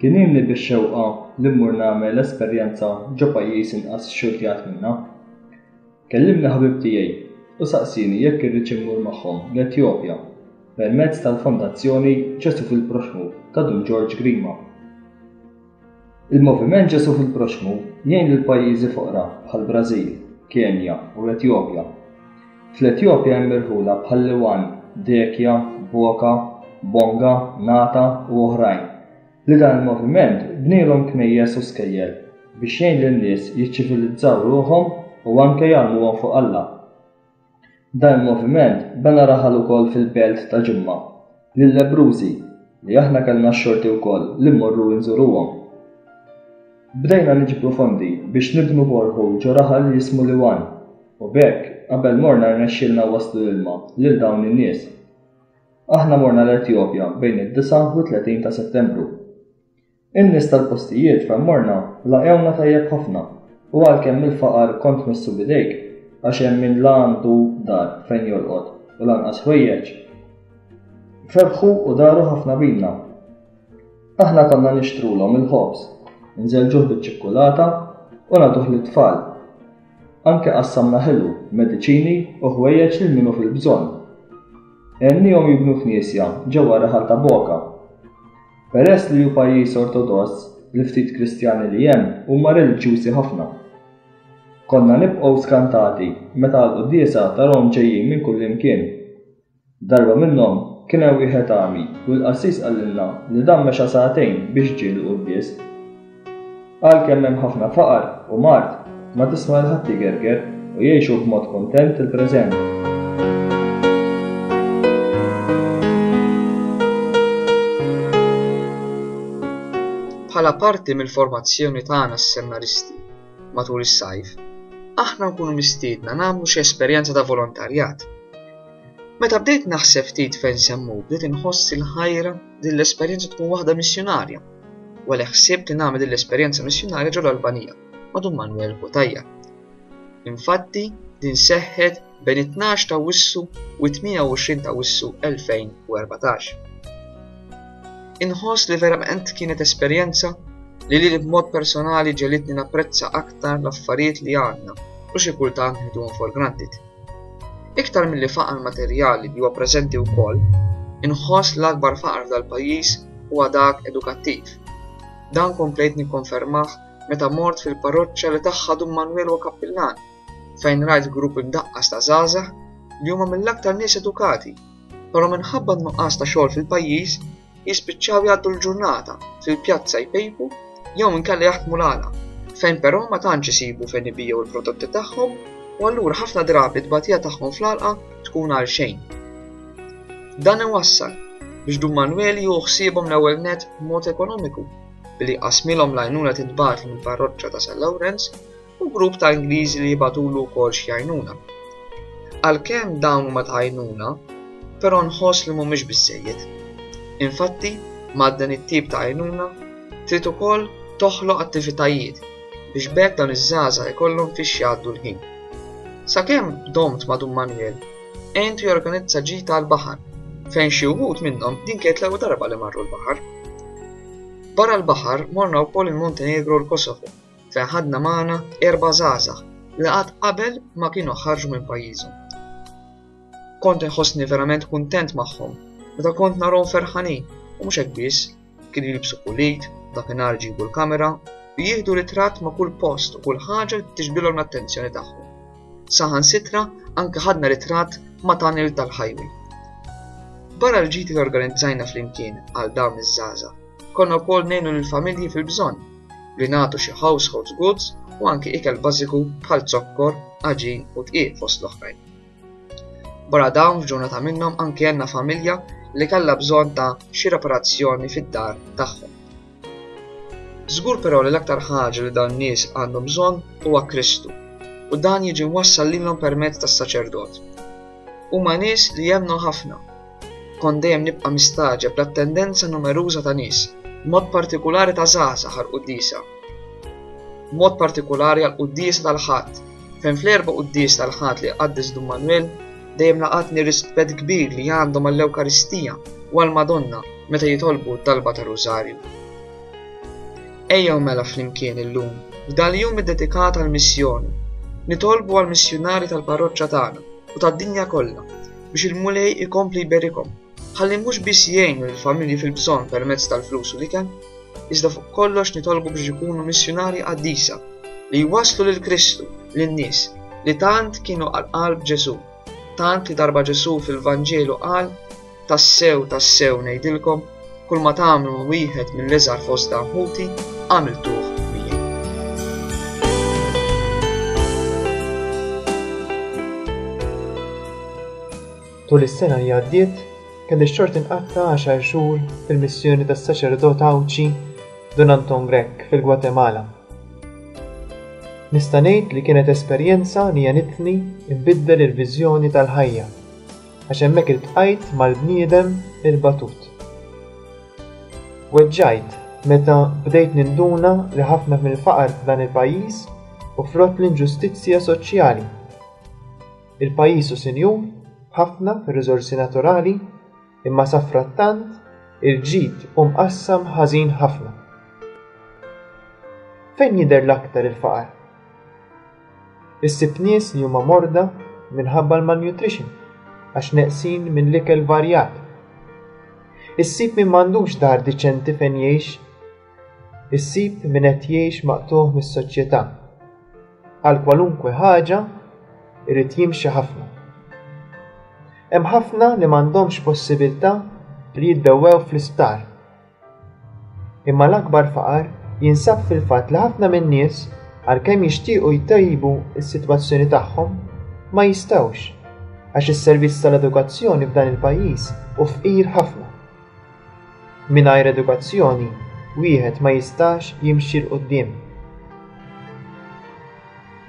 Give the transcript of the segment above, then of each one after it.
Kien ilni bix-xewqa li mmur nagħmel esperjenza ġo pajjiż inqas xxurtjat minna. Kellimni ħabib tiegħi u saqsieni jekk irridx immur magħhom l-Etjopja permezz tal-Fondazzjoni Ġesù fil-Proxxmu ta' Dun Ġorġ Grima. Il-Moviment Ġesù fil-Proxxmu jgħin lil pajjiżi foqra bħall-Brażil, Kenja u l-Etjopja. Fl-Etjopja hemm irħula bħal Liwan, Dekja, Boka, Bonga, Nata u oħrajn li dan il-moviment bnielhom knejjes u skejjel biex jgħin lin-nies jiċċivilizzaw ruħhom u anke jgħallmuhom fuq Alla. Dan il-moviment bena raħal ukoll fil-belt ta' Ġimma, lil-lebbrużi, li aħna kellna x-xorti wkoll li mmorru inżuruhom. Bdejna niġbru fondi biex nibnu borehole ġo raħal jismu Liwan u b'hekk qabel morna rnexxielna nwasslu l-ilma lil dawn in-nies. Aħna morna l-Etjopja bejn id-39 ta' Settembru. In-nies tal-postijiet fejn morna laqgħewna tajjeb ħafna u għalkemm il-faqar kont tmissu b'idejk għax hemm min la għandu dar fejn jorqod u lanqas ħwejjeġ, ferħu u daru ħafna bina. Aħna konna nixtrulhom il-ħobż, inżelġuh biċ-ċikkulata u nagħtuh lit-tfal. Anke qassamna ħelu, mediċini u ħwejjeġ lil min hu fil-bżonn. Għenniehom jibnu knisja ġewwa r-raħal ta' Boka. Peress li hu pajjiż Ortodoss, l-ftit Kristjani li hemm huma reliġjużi ħafna. Konna nibqgħu skantati meta għall-quddiesa tarahom ġejjin minn kullimkien. Darba minnhom kien hemm wieħed għami u l-qassis qalilna li dan mexa sagħtejn biex ġie l-quddies. Għalkemm hemm ħafna faqar u mard, ma tisma' lil ħadd igerger u jgħixu b'mod kuntent il-preżent. Bħala parti mill-formazzjoni tagħna s-seminaristi matul is-sajf, aħna nkunu mistiedna nagħmlu xi esperjenza ta' volontarjat. Meta bdejt naħseb ftit fejn se mmur bdejt inħoss il-ħajra din l-esperjenza tkun waħda missjunarja. U għalhekk ħsibt li nagħmel din l-esperjenza missjunarja ġol-Albanija ma' Dun Manuel Cutajar. Infatti din seħħet bejn it-12 ta' Awwissu u t-28 ta' Awwissu 2014. Inħoss li verament kienet esperjenza li lili b'mod personali ġelitni napprezza aktar l-affarijiet li għandna u xi kultant nieħduhom for granted. Iktar milli faqar materjali li huwa preżenti wkoll, inħoss l-akbar faqar f'dal-pajjiż huwa dak edukattiv. Dan komplejt nikkonfermah meta mort fil-parroċċa li tagħha Dun Manwel huwa kappillan, fejn rajt grupp imdaqqas ta' żgħażagħ li huma mill-aktar nies edukati, però minħabba n-nuqqas ta' xogħol fil-pajjiż jispiċċaw jgħaddu l-ġurnata fil-pjazza jpejpu jew inkella jaħdmu l-għala, fejn però ma tantx isibu fejn ibigħu l-prodotti tagħhom u allura ħafna drabi t-tbatija tagħhom fl-għalqa tkun għal xejn. Dan iwassal biex Dun Manwel jieħu ħsiebhom l-ewwel nett b'mod ekonomiku billi jqassmilhom l-għajnuna tintbagħatlu mill-parroċċa ta' San Lawrenz u grupp ta' Ingliżi li jibagħtulu wkoll xi għajnuna. Għalkemm dawn huma ta' għajnuna, però nħoss li mhumiex biżżejjed. Infatti, ma' dan it-tip ta' għajnuna, trid ukoll toħloq attivitajiet biex b'hekk dawn iż-żgħażagħ ikollhom fiex jgħaddu l-ħin. Sakemm domt ma' Dun Manwel, għentu jorganizza ġita għall-baħar, fejn xi wħud minnhom din kienet l-ewwel darba li marru l-baħar. Barra l-baħar morna wkoll il-Montenegro u l-Kosovo fejn ħadna magħna erba' żgħażagħ li qatt qabel ma kienu ħarġu minn pajjiżhom. Kont inħossni verament kuntent magħhom meta kont narhom ferħanin u mhux hekk biss, kienu jilbsu pulit, dakinhar iġibu l-kamera u jieħdu ritratt ma' kull post u kull ħaġa li tiġbidilhom l-attenzjoni tagħhom. Saħansitra anke ħadna ritratt ma' tunnel tal-highway. Barra l-ġiti li organizzajna flimkien għal dawn iż-żgħażagħ, konna wkoll ngħinu lill-familji fil-bżonn li nagħtu xi household goods u anki ikel bażiku bħal zokkor, għaġin u dqiq fost l-oħrajn. Barra dawn f'ġurnata minnhom anki għenna familja li kellha bżonn ta' xi reparazzjoni fid-dar tagħhom. Żgur però li l-aktar ħaġa li dawn nies għandhom bżonn huwa Kristu u dan jiġi mwassal lilhom permezz tas-saċerdot. Huma nies li jemmnu ħafna Kont dejjem nibqa' mistagħġeb bl-attendenza numeruża ta' nies, b'mod partikulari ta' żgħażagħ għall-quddiesa. B'mod partikulari għall-quddiesa tal-Ħadd, fejn fl-erba' quddies tal-Ħadd li jqaddes Dun Manwel dejjem laqatni rispett kbir li għandhom għall-Ewkaristija u għall-Madonna meta jitolbu t-talba tar-Rużarju. Ejjew mela flimkien illum, f'dal-jum iddedikat għall-missjoni, nitolbu għall-missjunarji tal-parroċċa tagħna u tad-dinja kollha biex il-Mulej ikompli jberikhom ħalli mhux biss jgħinu lill-familji fil-bżonn permezz tal-flus u l-ikel, iżda fuq kollox nitolbu biex ikunu missjunarji qaddisa li jwasslu lil Kristu lin-nies li tant kienu għal qalb Ġesù, tant li darba Ġesù fil-Vanġelu qal Tassew, tassew ngħidilkom, kulma tagħmlu ma' wieħed mill-iżgħar fost dawn ħuti, għamiltuh miegħi. Tul is-sena li għaddiet, kelli x-xorti nqatta' għaxar xhur fil-missjoni tas-saċerdot Għawdxi Dun Anton Grech fil-Gwatemala. Nista' ngħid li kienet esperjenza li għenitni nbiddel il-viżjoni tal-ħajja għax hemmhekk iltqajt mal-bniedem il-batut. Weġġajt meta bdejt ninduna li ħafna mill-faqar f'dan il-pajjiż hu frott l-inġustizzja soċjali. Il-pajjiż hu sinjur ħafna fir-riżorsi naturali imma safrattant il-ġid hu mqassam ħażin ħafna. Fejn jidher l-aktar il-faqar? Issib nies li huma morda minħabba l-malnutrition għax neqsin minn l-ikel varjat. Issib min m'għandux dar diċenti fejn jgħix. Issib min qed jgħix maqtugħ mis-soċjetà. Għal kwalunkwe ħaġa irid jimxi ħafna. Hemm ħafna li m'għandhomx possibilità li jiddewwew fl-isptar. Imma l-akbar faqar jinsab fil-fatt li ħafna min-nies, għalkemm jixtiequ jtejbu s-sitwazzjoni tagħhom, ma jistgħux, għax is-servizz tal-edukazzjoni f'dan il-pajjiż hu fqir ħafna. Mingħajr edukazzjoni wieħed ma jistax jimxi 'l quddiem.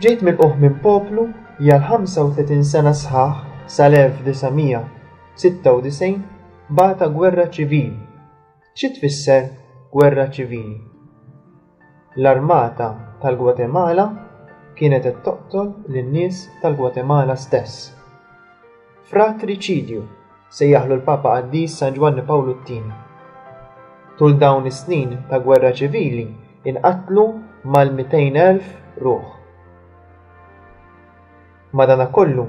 Ġejt milqugħ minn poplu li għal 35 sena sħaħ sal-1996 bata gwerra ċivili. Xi tfisser gwerra ċivili? L-armata tal-Gwatemala kienet qed toqtol lin-nies tal-Gwatemala stess. Fratriċidju, sejjaħlu l-Papa Qaddis San Ġwanni Pawlu t-Tieni. Tul dawn is-snin ta' gwerra ċivili inqatlu mal-200,000 ruħ. Madanakollu,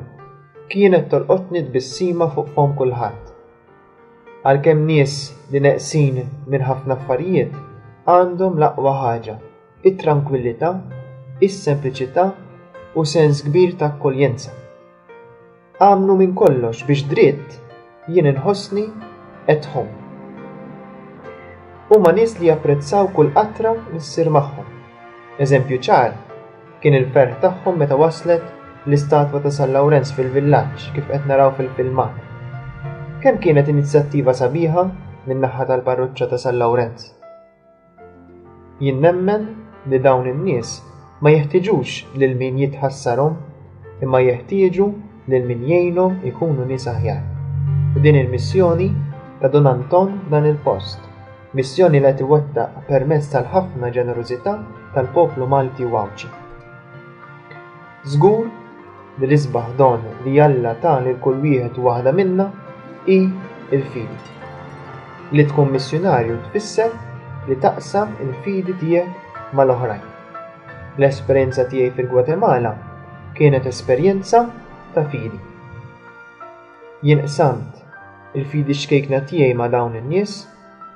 kienet tolqotni tbissima fuq fomm kulħadd. Għalkemm nies li neqsin minn ħafna affarijiet għandhom l-aqwa ħaġa, it-trankwillità, is-sempliċità u sens kbir ta' akkoljenza. Għamlu minn kollox biex dritt jien inħossni at home. Huma nies li japprezzaw kull qatra li ssir magħhom. Eżempju ċar Kien il-ferħ tagħhom meta waslet l-istatwa ta' San Lawrenz fil-villaġġ kif qed naraw fil-filmat. Kemm kienet inizjattiva sabiħa min-naħa tal-parroċċa ta' San Lawrenz. Jien nemmen li dawn in-nies ma jeħtieġux lil min jitħassarhom imma jeħtieġu lil min jgħinhom ikunu nies aħjar. U din il-missjoni ta' Dun Anton f'dan il-post. Missjoni li qed iwettaq permezz tal-ħafna ġenerożità tal-poplu Malti u Għawdxi. Żgur li l-isbaħ don li Alla ta lil kull wieħed u waħda minna hi l-fidi. Li tkun missjunarju tfisser li taqsam il-fidi tiegħek mal-oħrajn. L-esperjenza tiegħi fil-Gwatemala kienet esperjenza ta' fidi. Jien qsamt il-fidi ċkejkna tiegħi ma' dawn in-nies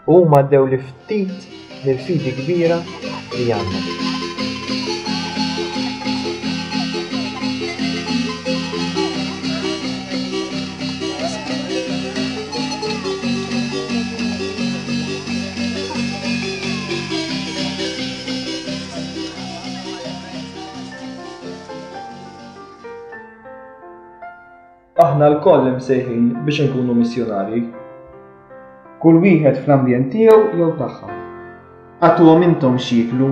u huma għaddewli ftit mill-fidi kbira li għandhom. Aħna lkoll imsejħin biex inkunu missjunarji. Kull wieħed fl-ambjent tiegħu jew tagħha. Agħtuhom intom x'jieklu.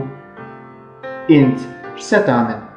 Int x'se tagħmel?